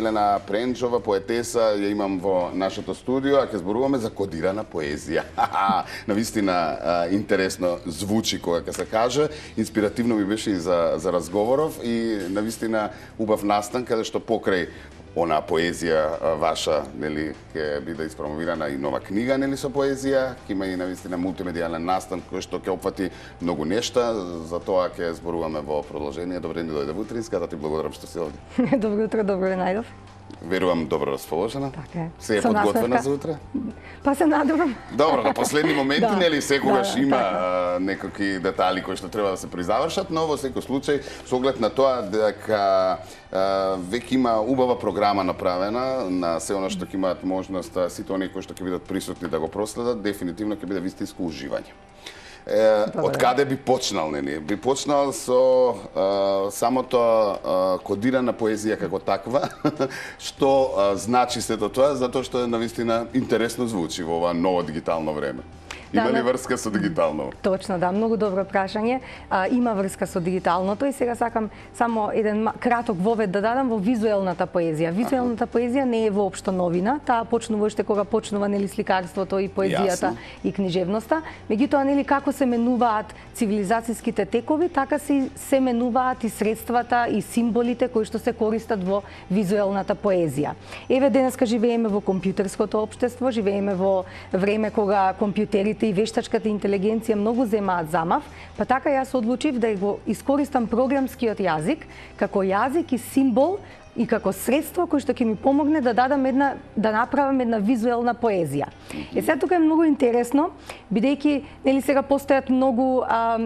Елена Пренчова, поетеса, ја имам во нашето студио, а ќе зборуваме за кодирана поезија. Навистина интересно звучи кога ќе се каже, инспиративно ми беше и за разговоров и навистина убав настан каде што покрај она поезија ваша, нели, ќе биде испромовирана и нова книга, нели, со поезија, ќе има и навистина мултимедијален настан кој што ќе опфати многу нешта, за тоа ќе зборуваме во продолжение. Добре ни дојде во утринска, да ти благодарам што си овде. Добро утро, добро ве најдов. Верувам добро расположена. Така е. Се е подготвена за утре? Па се надевам. Добро, на последни моменти, Да. нели, секогаш Да, има така. некакви детали кои што треба да се призавршат, но во секој случај, со оглед на тоа дека веќе има убава програма направена на се оно што ќе имаат можност сите оние кои што ќе бидат присутни да го проследат, дефинитивно ќе биде вистинско уживање. Од каде би почнал, нели? Би почнал со самото кодирана поезија како таква, што значи сето тоа, затоа што навистина интересно звучи во ова ново дигитално време. Има ли врска со дигитално? Точно, да, многу добро прашање. Има врска со дигиталното и сега сакам само еден краток вовед да дадам во визуелната поезија. Визуелната поезија не е воопшто новина, таа почнува уште кога почнува, нели, сликарството и поезијата и книжевноста. Меѓутоа, нели, како се менуваат цивилизацијските текови, така се менуваат и средствата и символите кои што се користат во визуелната поезија. Еве, денеска живееме во компјутерското општество, живееме во време кога компјутерите и вештачката интелигенција многу земаат замав, па така јас одлучив да го искористам програмскиот јазик како јазик и символ и како средство кој што ќе ми помогне да да направам една визуелна поезија. Сега тука е многу интересно, бидејќи, нели, сега постојат многу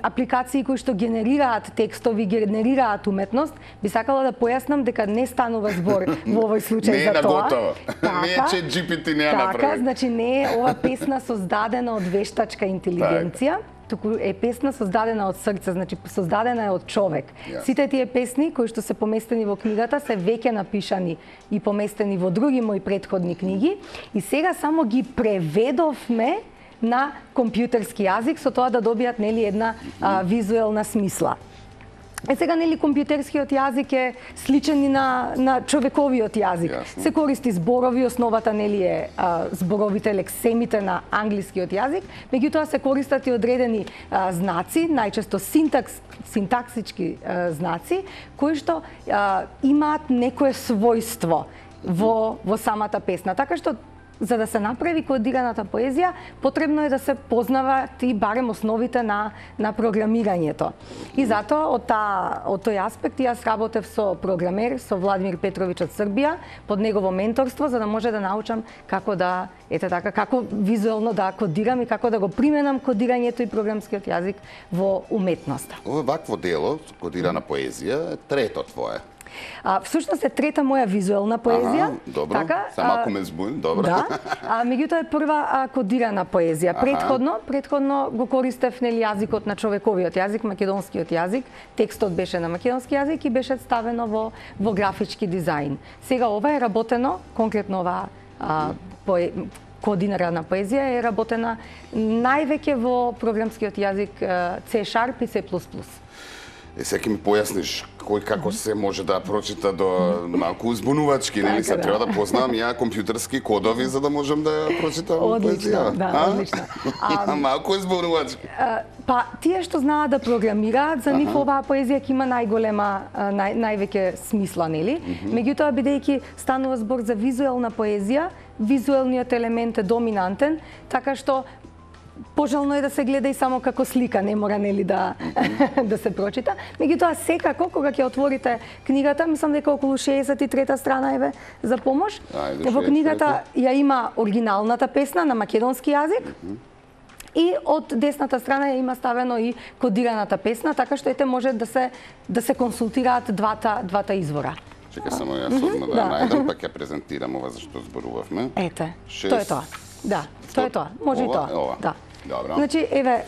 апликации кои што генерираат текстови, генерираат уметност, би сакала да појаснам дека не станува збор во овој случај за тоа. Не е ChatGPT не ја направи. Така, значи не е ова песна создадена од вештачка интелигенција, туку е песна создадена од срце, значи создадена е од човек. Сите тие песни кои што се поместени во книгата се веќе напишани и поместени во други мои претходни книги и сега само ги преведовме на компјутерски јазик со тоа да добијат, нели, една визуелна смисла. Сега, нели, компјутерскиот јазик е сличен и на човековиот јазик. Се користи зборови, основата, нели, е зборовите лексемите на англискиот јазик, меѓутоа се користат и одредени знаци, најчесто синтаксички знаци, кои што имаат некое својство во самата песна. Така што за да се направи кодираната поезија, потребно е да се познаваат и барем основите на програмирањето. И затоа од тој аспект јас работев со програмер, со Владимир Петрович од Србија, под негово менторство, за да може да научам како да, како визуелно да кодирам и како да го применам кодирањето и програмскиот јазик во уметноста. Ова вакво дело, кодирана поезија, е трето твое. Всушност е трета моја визуелна поезија. Добро, така, само ако ме збун, добро. Да, меѓутоа е прва кодирана поезија. Претходно го користев, нели, јазикот на човековиот јазик, македонскиот јазик. Текстот беше на македонски јазик и беше ставено во графички дизајн. Сега ова е работено, конкретно ова кодирана поезија е работена највеќе во програмскиот јазик C# и C++. Сега ќе ми појасниш кој како се може да прочита до малку узбунувачки, нели, се треба да познавам ја компјутерски кодови за да можам да ја прочитам поезија. Одлично, да, одлично. Малку узбунувачки. Па тие што знаат да програмираат, за нив оваа поезија ќе има највеќе смисла, нели? Меѓутоа, бидејќи станува збор за визуелна поезија, визуелниот елемент е доминантен, така што пожелно е да се гледа и само како слика, не мора, нели, да се прочита. Меѓутоа, секако, кога ќе отворите книгата, мислам дека околу 63-та страна еве за помош, во книгата ја има оригиналната песна на македонски јазик, и од десната страна ја има ставено и кодираната песна, така што ете може да се консултираат двата извора. Чека само јас одма да најдам, па ќе презентирам ова за што зборувавме. Ете, тоа е тоа. Да, тоа е тоа. Може и тоа. Да. Добро. Значи, еве,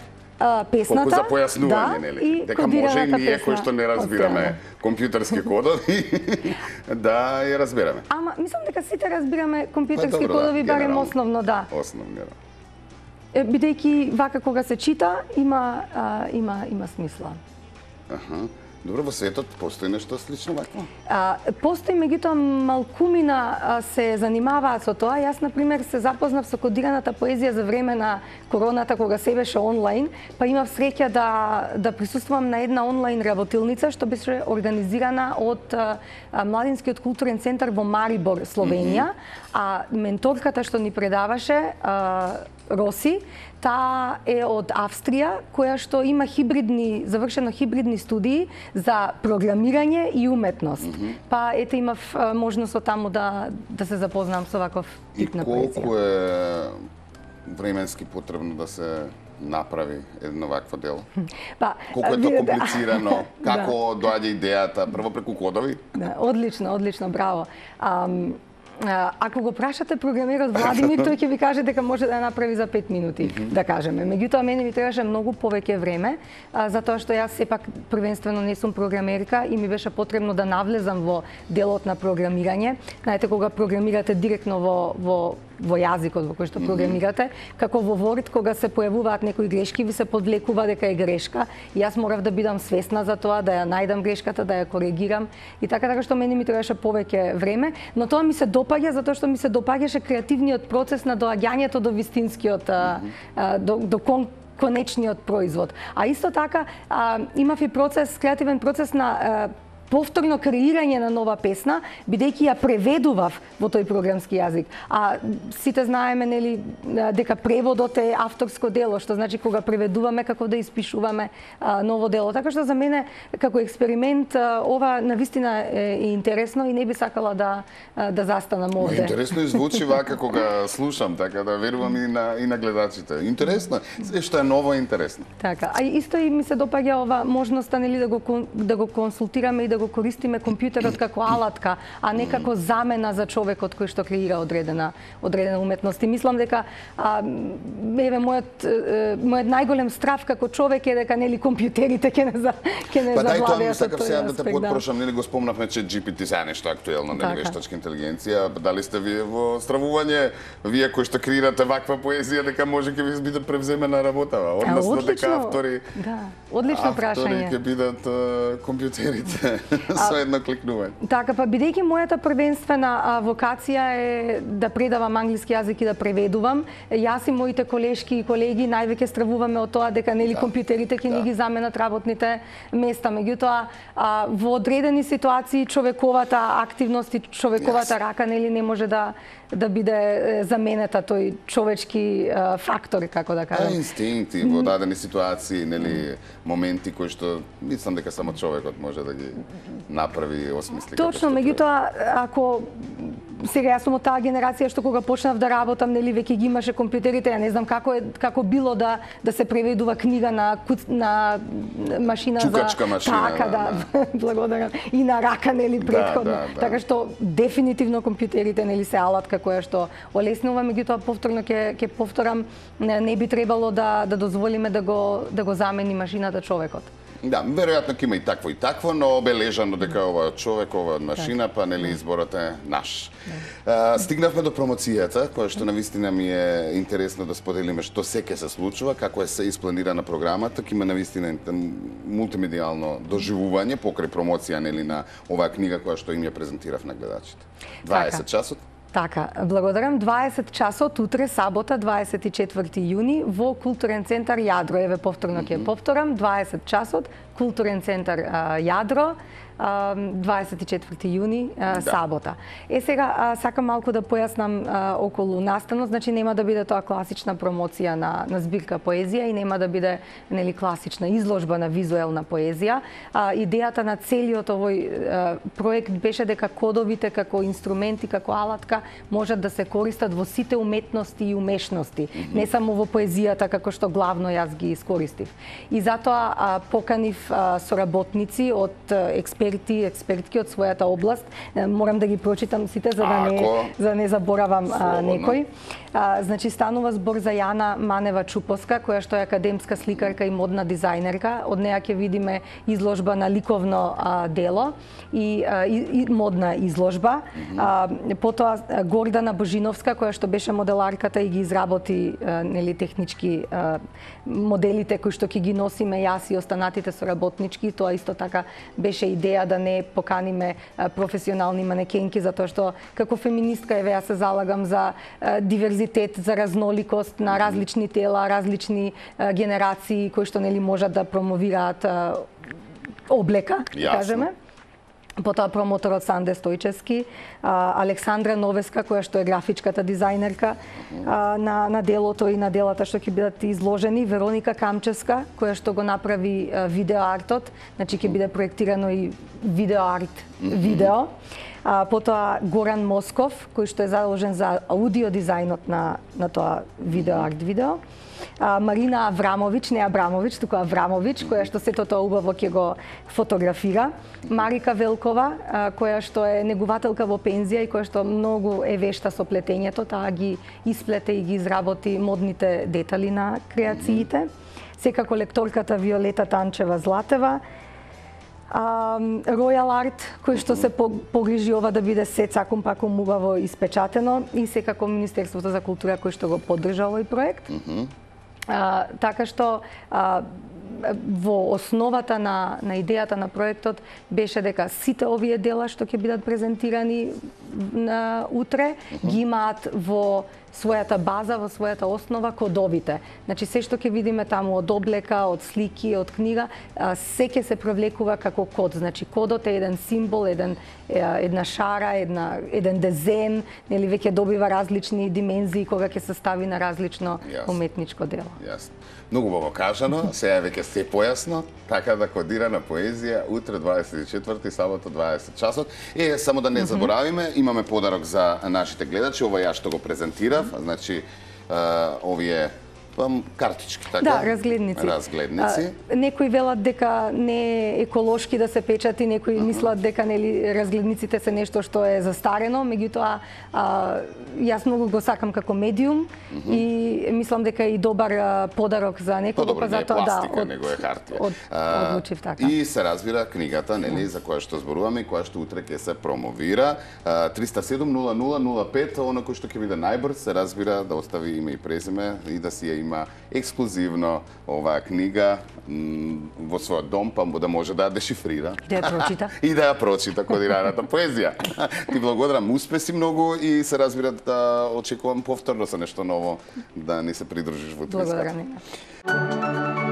песната. Колку за појаснување, нели? Дека може и ние кои што не разбираме компјутерски кодови, да ја разбираме. Ама, мислам дека сите разбираме компјутерски кодови, барем основно, да. Основно, да. Бидејќи вака кога се чита, има смисла. Добро, во светот постои нешто слично вакво? Постои, меѓутоа малкумина се занимаваат со тоа. Јас, например, се запознав со кодираната поезија за време на короната, кога се беше онлайн, па имав среќа да присуствувам на една онлайн работилница, што беше организирана од Младинскиот културен центар во Марибор, Словенија, а менторката што ни предаваше, Роси, таа е од Австрија, која што има завршено хибридни студии за програмирање и уметност. Па ете имав можност од таму да се запознам со ваков тип на поезија. И колку е временски потребно да се направи едно вакво дело? Колку е тоа комплицирано? Како доаѓа идејата? Прво преку кодови? Одлично, браво. Ако го прашате програмерот Владимир, тој ќе ви каже дека може да ја направи за 5 минути, да кажеме. Меѓутоа, мене ми требаше многу повеќе време, затоа што јас сепак првенствено не сум програмерка и ми беше потребно да навлезам во делот на програмирање. Знаете, кога програмирате директно во јазикот во кој што програмирате, како во Word, кога се појавуваат некои грешки, ви се подвлекува дека е грешка. И јас морав да бидам свесна за тоа, да ја најдам грешката, да ја коригирам. И така што мене ми требаше повеќе време, но тоа ми се допаѓа затоа што ми се допаѓаше креативниот процес на доаѓањето до вистинскиот, до конечниот производ. А исто така имав и креативен процес на повторно креирање на нова песна, бидејќи ја преведував во тој програмски јазик. А сите знаеме, нели, дека преводот е авторско дело, што значи кога преведуваме како да испишуваме ново дело. Така што за мене како експеримент ова навистина е интересно и не би сакала да застанам овде. Интересно звучи вака кога слушам, така да верувам и на гледачите. Интересно, што е ново интересно. Така, а исто и ми се допаѓа ова можноста, нели, да го консултираме и да го користиме компјутерот како алатка, а не како замена за човекот кој што креира одредена уметност. И мислам дека мојот најголем страв како човек е дека нели компјутерите ќе не завладеат. Па сакав сега да те потпрошам, нели го спомнавме ChatGPT, сега нешто актуелно, нели, вештачка интелигенција. Дали сте вие во стравување, вие кои што креирате ваква поезија, дека може ќе ви биде превземена работава, односно дека автори одлично прашање ќе бидат компјутерите со едно кликнување. Така, па бидејќи мојата првенствена вокација е да предавам англиски јазик и да преведувам, јас и моите колешки и колеги највеќе стравуваме од тоа дека нели компјутерите ќе ни ги заменат работните места. Меѓутоа, во одредени ситуации човековата активност и човековата рака нели не може да биде заменета тој човечки фактор, како да кажам. Инстинкти во дадени ситуации, нели, моменти кои што мислам дека само човекот може да ги направи и осмисли. Точно, меѓутоа, ако сега јас сум од таа генерација што кога почнав да работам, нели веќе ги имаше компјутерите, ја не знам како било да се преведува книга на машина чукачка машина. Така, благодарам. И на рака, нели, претходно. Така што дефинитивно компјутерите нели се алатка која што олеснува, меѓутоа повторно ќе повторам, не би требало да дозволиме да го замени машината човекот. Да, веројатно ќе има и такво, но обележано дека ова човек, ова машина, па нели изборот е наш. Стигнавме до промоцијата, која што навистина ми е интересно да споделиме што се ќе се случува, како е се испланирана програмата, ќе има навистина мултимедијално доживување покрај промоција нели на оваа книга која што им ја презентирав на гледачите. 20 часот. Така, благодарам. 20 часот утре, сабота, 24 јуни, во Културен центар Јадро. Еве повторно ќе повторам, 20 часот, Културен центар Јадро, 24 јуни, сабота. Сега сакам малку да појаснам околу настанот, значи нема да биде тоа класична промоција на збирка поезија и нема да биде нели класична изложба на визуелна поезија. Идејата на целиот овој проект беше дека кодовите како инструменти, како алатка можат да се користат во сите уметности и умешности, не само во поезијата како што главно јас ги искористив. И затоа поканив соработници од експертки од својата област. Морам да ги прочитам сите за да не заборавам некој. Значи станува збор за Јана Манева Чупоска, која што е академска сликарка и модна дизајнерка. Од неа ќе видиме изложба на ликовно дело и модна изложба. Потоа Гордана Божиновска, која што беше моделарката и ги изработи нели технички моделите кои што ќе ги носиме јас и останатите работнички. Тоа исто така беше идеја да не поканиме професионални манекенки, затоа што како феминистка ја се залагам за диверзитет, за разноликост на различни тела, различни генерации кои што нели можат да промовираат облека, да кажеме. Потоа промоторот Санде Стојчевски, Александра Новеска, која што е графичката дизајнерка на делото и на делата што ќе бидат изложени, Вероника Камчевска, која што го направи видеоартот, значи ќе биде проектирано и видеоарт видео. Потоа Горан Москов, кој што е задолжен за аудио дизајнот на тоа видеоарт видео. Марина Аврамович, не Абрамович, туку Аврамович, која што сето тоа убаво ќе го фотографира. Марика Велкова, која што е негувателка во пензија и која што многу е вешта со плетењето, таа ги исплете и ги изработи модните детали на креациите. Секако лекторката Виолета Танчева Златева. Royal Art, кој што се погрижи ова да биде се цакум пакум убаво испечатено, и секако Министерството за култура кој што го поддржа овој проект. Така што во основата на идејата на проектот беше дека сите овие дела што ќе бидат презентирани утре ги имаат во својата база, во својата основа кодовите. Значи се што ќе видиме таму од облека, од слики, од книга, се ќе се провлекува како код. Значи кодот е еден символ, една шара, еден дезен, нели веќе добива различни димензии кога ќе се стави на различно уметничко дело. Јасно. Многу убаво кажано, сега веќе се појасно, така да кодирана поезија утре 24 сабота 20 часот. Само да не заборавиме, имаме подарок за нашите гледачи, ова ја што го презентирав, значи овие картички, така? Да, разгледници. Разгледници. Некои велат дека не е еколошки да се печати, некои мислат дека нели разгледниците се нешто што е застарено, меѓутоа јас многу го сакам како медиум и мислам дека е и добар подарок за некого, па затоа пластика, него е хартија. Одлучив така. И се разбира книгата, нели, за која што зборуваме и која што утре ќе се промовира. 307 0005, оно кој што ќе биде најбрз, се разбира да остави име и презиме и да си ја има ексклузивно оваа книга во својот дом, па да може да ја дешифрира. Да ја прочита. И да ја прочита кодираната поезија. Ти благодарам, успеси многу и се разбира да очекувам повторно со нешто ново да ни се придружиш во твојот. Благодарам.